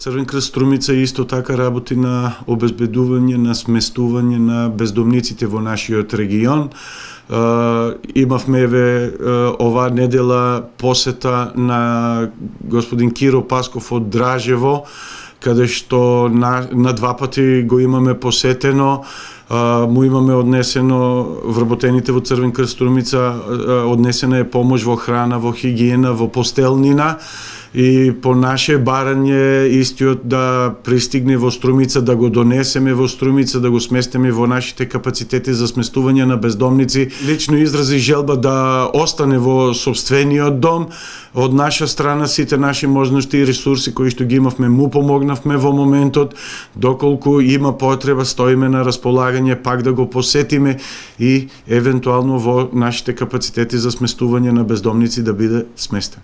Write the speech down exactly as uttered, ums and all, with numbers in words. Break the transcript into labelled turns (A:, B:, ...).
A: Црвен крст Струмица исто така работи на обезбедување, на сместување на бездомниците во нашиот регион. Uh, имавме еве uh, оваа недела посета на господин Киро Пасков од Дражево, каде што на, на два пати го имаме посетено. Uh, му имаме однесено вработените во Црвен крст Струмица, uh, однесена е помош во храна, во хигиена, во постелнина, и по наше барање истиот да пристигне во Струмица, да го донесеме во Струмица, да го сместиме во нашите капацитети за сместување на бездомници. Лично изрази желба да остане во сопствениот дом. Од наша страна сите наши можности и ресурси кои што ги имавме му помогнавме во моментот. Доколку има потреба, стоиме на располагање пак да го посетиме и евентуално во нашите капацитети за сместување на бездомници да биде сместен.